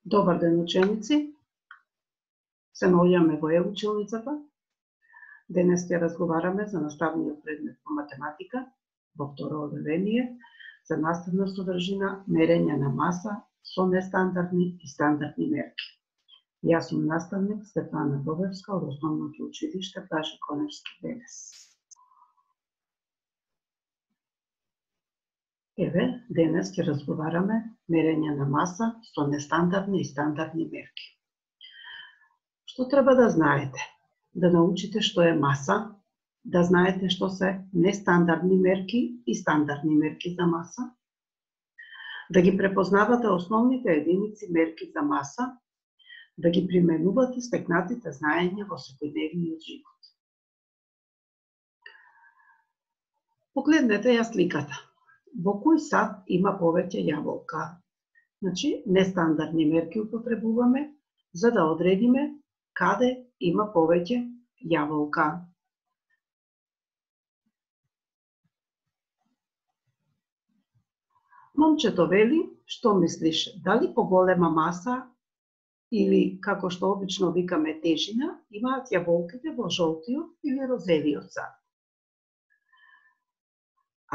Добар ден, ученици. Се наоѓаме во училницата. Денес ќе разговараме за наставниот предмет по математика во второ одделение за наставна содржина мерење на маса со нестандардни и стандардни мерки. Јас сум наставник Стефана Бобевска од Основното училиште Блаже Коневски Денес. Еве, денес ќе разговараме мерење на маса со нестандардни и стандардни мерки. Што треба да знаете? Да научите што е маса, да знаете што се нестандардни мерки и стандардни мерки за маса, да ги препознавате основните единици мерки за маса, да ги применувате стекнатите знаења во секојдневниот живот. Погледнете ја сликата. Во кој сад има повеќе јаболка? Значи, нестандардни мерки употребуваме за да одредиме каде има повеќе јаболка. Момчето вели, што мислиш, дали поголема маса или, како што обично викаме, тежина, имаат јаболките во жолтиот или розевиот сад?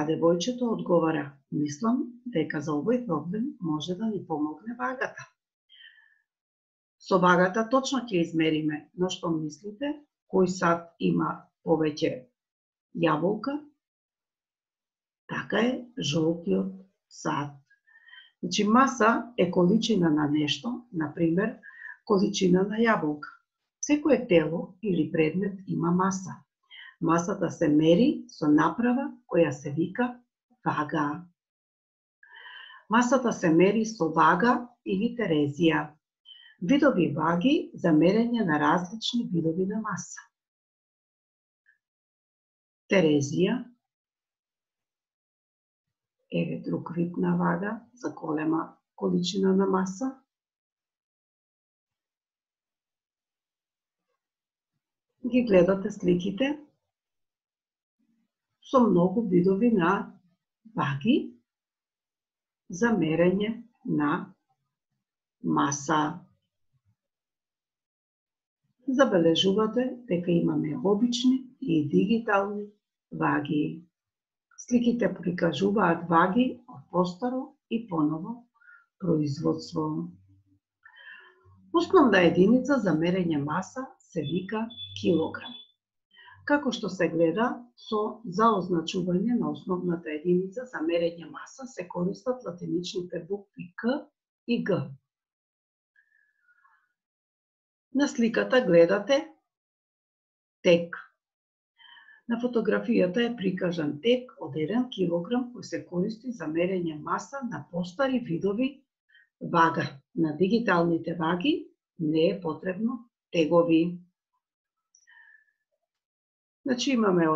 А девојчето одговара, мислам дека за овој проблем може да ни помогне вагата. Со вагата точно ќе измериме, но што мислите, кој сад има повеќе јаболка? Така е, жолтиот сад. Значи, маса е количина на нешто, например, количина на јаболка. Секое тело или предмет има маса. Масата се мери со направа која се вика вага. Масата се мери со вага или терезија. Видови ваги за мерење на различни видови на маса. Терезија, еве друг вид на вага за голема количина на маса. Ги гледате сликите со многу видови на ваги за мерење на маса. Забележувате дека имаме обични и дигитални ваги. Сликите прикажуваат ваги од постаро и поново производство. Основна единица за мерење маса се вика килограм. Како што се гледа, за означување на основната единица за мерење маса се користат латиничните букви К и Г. На сликата гледате тек. На фотографијата е прикажан тек од 1 килограм кој се користи за мерење маса на постари видови вага. На дигиталните ваги не е потребно тегови. Значи имаме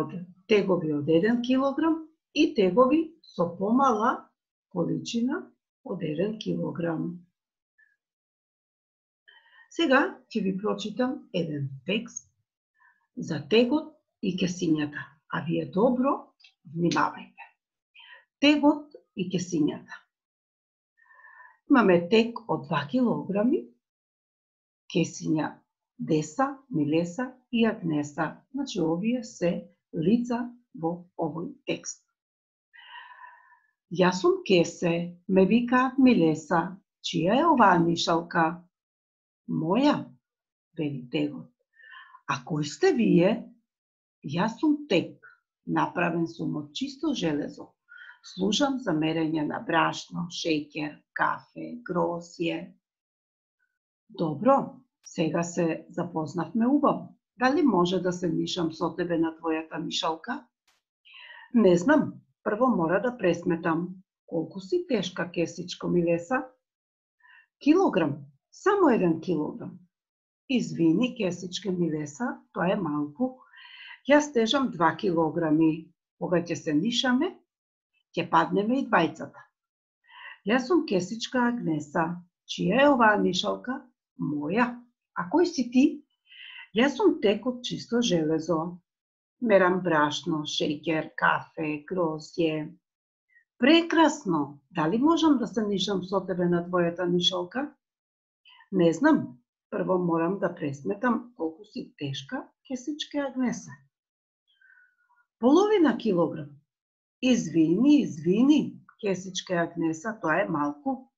тегови од 1 килограм и тегови со помала количина од 1 килограм. Сега ќе ви прочитам еден текст за тегот и кесињата, а вие добро внимавајте. Тегот и кесињата. Имаме тег од 2 килограми, кесиња Деса, Милеса и Агнеса. Значи, овие се лица во овој текст. Јас сум Кесе, ме викаат Милеса. Чија е оваа нишалка? Моја, вели тегот. А кој сте вие? Јас сум тег, направен сум од чисто железо. Служам за мерење на брашно, шеќер, кафе, грозје. Добро, сега се запознавме убаво. Дали може да се мишам со тебе на твојата мишалка? Не знам, прво мора да пресметам. Колку си тешка, Кесичко Милеса? Килограм, само 1 килограм. Извини, Кесичке Милеса, тоа е малку. Јас тежам 2 килограми. Кога ќе се мишаме, ќе паднеме и двајцата. Јас сум Кесичка Агнеса. Чија е оваа мишалка? Моја. А кој си ти? Јас сум тек од чисто железо. Мерам брашно, шеќер, кафе, грозје. Прекрасно! Дали можам да се нишам со тебе на твојата нишалка? Не знам, прво морам да пресметам колку си тешка, кесичке Агнеса. Половина килограм. Извини, кесичке Агнеса, тоа е малку.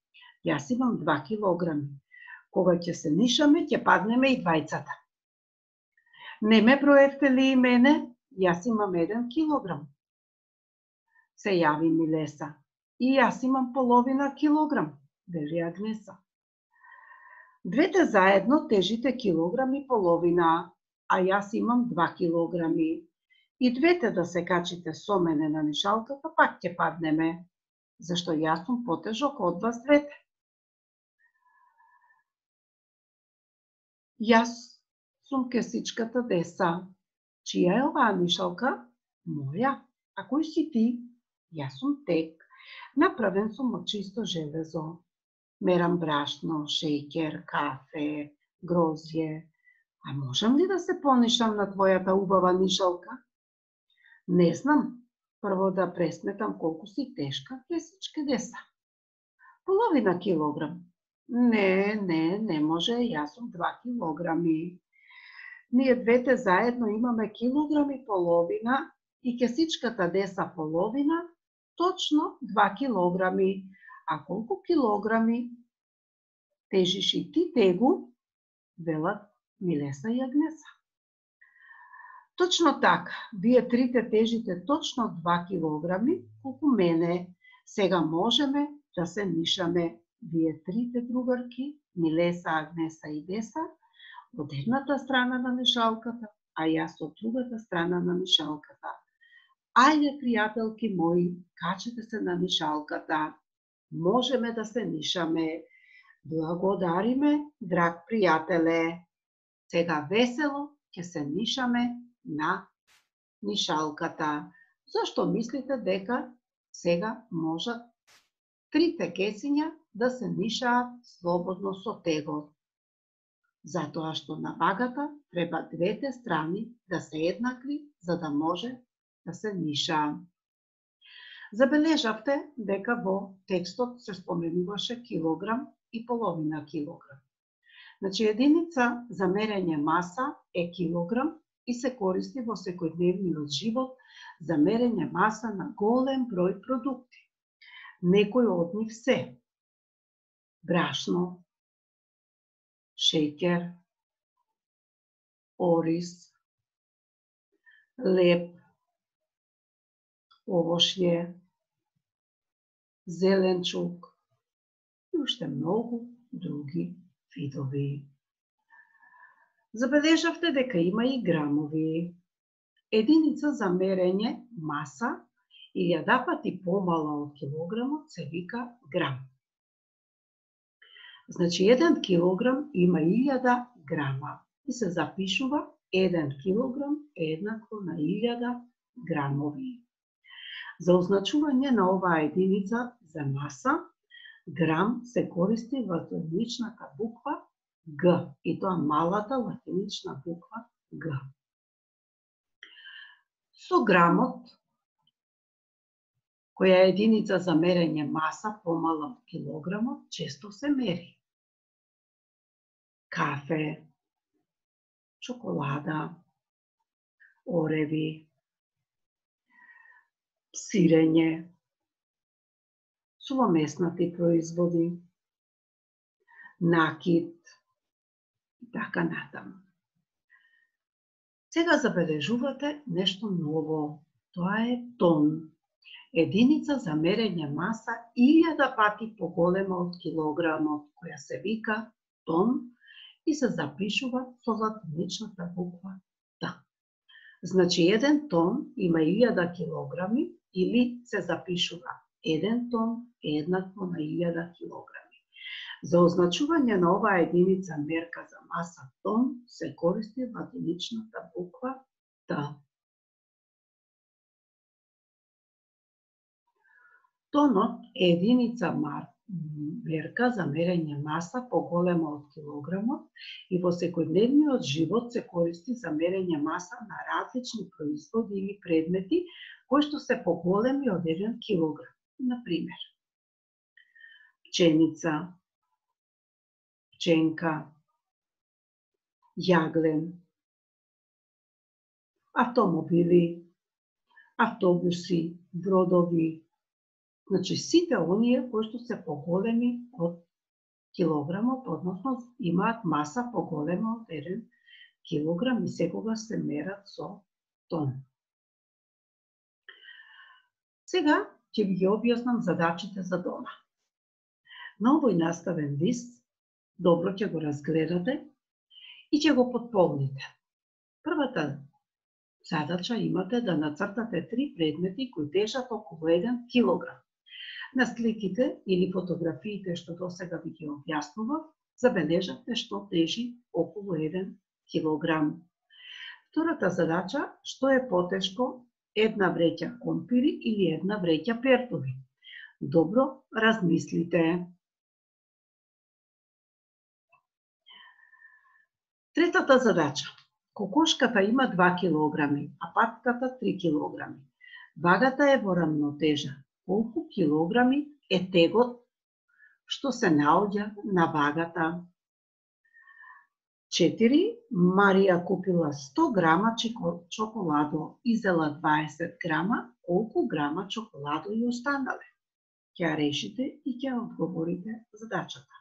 Јас имам 2 килограми. Кога ќе се нишаме, ќе паднеме и двајцата. Не ме броевте ли и мене? Јас имам 1 килограм. Се јави Милеса. И јас имам половина килограм, вели Агнеса. Двете заедно тежите килограм и половина, а јас имам 2 килограми. И двете да се качите со мене на нишалката, пак ќе паднеме, зашто јас сум потежок од вас двете. Јас сум кесичката Деса. Чија е оваа нишалка? Моја. А кој си ти? Јас сум Тек. Направен сум од чисто железо. Мерам брашно, шеќер, кафе, грозје. А можам ли да се понишам на твојата убава нишалка? Не знам. Прво да пресметам колку си тешка, кесичке Деса. Половина килограм. Не може, јас сум 2 килограми. Ние двете заедно имаме килограм и половина и кесичката Деса половина, точно 2 килограми. А колку килограми тежиш и ти, Тегу? Велат Милеса и Агнеса. Точно така, вие трите тежите точно 2 килограми, колку мене. Сега можеме да се нишаме. Вие трите другарки, Милеса, Агнеса и Деса, од едната страна на нишалката, а јас од другата страна на нишалката. Ајде, пријателки мои, качете се на нишалката. Можеме да се нишаме. Благодариме, драг пријателе. Сега весело ќе се нишаме на нишалката. Зашто мислите дека сега можат трите кесиња да се нишаат слободно со тегот? Затоа што на вагата треба двете страни да се еднакви, за да може да се нишаат. Забележавте дека во текстот се споменуваше килограм и половина килограм. Значи, единица за мерење маса е килограм и се користи во секојдневниот живот за мерење маса на голем број продукти. Некои од нив се брашно, шеќер, ориз, леб, овошје, зеленчук и уште многу други видови. Забележавте дека има и грамови. Единица за мерење маса 1000 пати помала од килограмот се вика грам. Значи, 1 килограм има 1000 грама и се запишува 1 килограм е еднакво на 1000 грамови. За означување на оваа единица за маса, грам се користи латиничната буква Г, и тоа малата латинична буква Г. Со грамот, која е единица за мерење маса помала од килограмот, често се мери кафе, чоколада, ореви, сирење, сувомеснати производи, накит и така натаму. Сега забележувате нешто ново. Тоа е тон. Единица за мерење маса 1000 пати поголема од килограмот, која се вика тон и се запишува со латиничната буква Т. Значи, 1 тон има 1000 килограми или се запишува 1 тон е еднакво на 1000 килограми. За означување на оваа единица мерка за маса тон се користи латиничната буква Т. Тонот е единица мерка за мерење маса поголема од килограмот и во секојдневниот живот се користи за мерење маса на различни производи или предмети кои што се поголеми од 1 килограм. Например, пченица, пченка, јаглен, автомобили, автобуси, бродови, значи сите оние кои што се поголеми од килограмот, односно имаат маса поголема од 1 килограм и секогаш се мерат со тон. Сега ќе ви ги објаснам задачите за дома. На овој наставен лист добро ќе го разгледате и ќе го потполните. Првата задача имате да нацртате 3 предмети кои тежат околу 1 килограм. На сликите или фотографиите што досега ви ги објаснував, забележавте што тежи околу 1 килограм. Втората задача, што е потешко, 1 вреќа компири или 1 вреќа пертови. Добро размислите. Третата задача. Кокошката има 2 килограми, а патката 3 килограми. Вагата е во рамнотежа. Колку килограми е тегот што се наоѓа на вагата? 4. Марија купила 100 грама чоколадо и зела 20 грама. Колку грама чоколадо ја останале? Ќе решите и ќе одговорите задачата.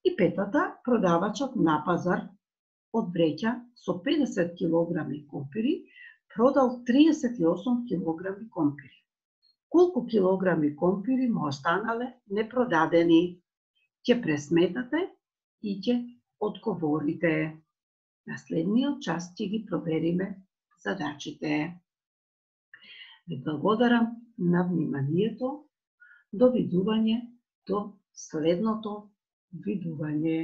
И петата, продавачот на пазар од вреќа со 50 килограми компири продал 38 килограми компири. Колку килограми компири му останале непродадени? Ќе пресметате и ќе одговорите. На следниот час ќе ги провериме задачите. Ви благодарам на вниманието. Довидување до следното видување.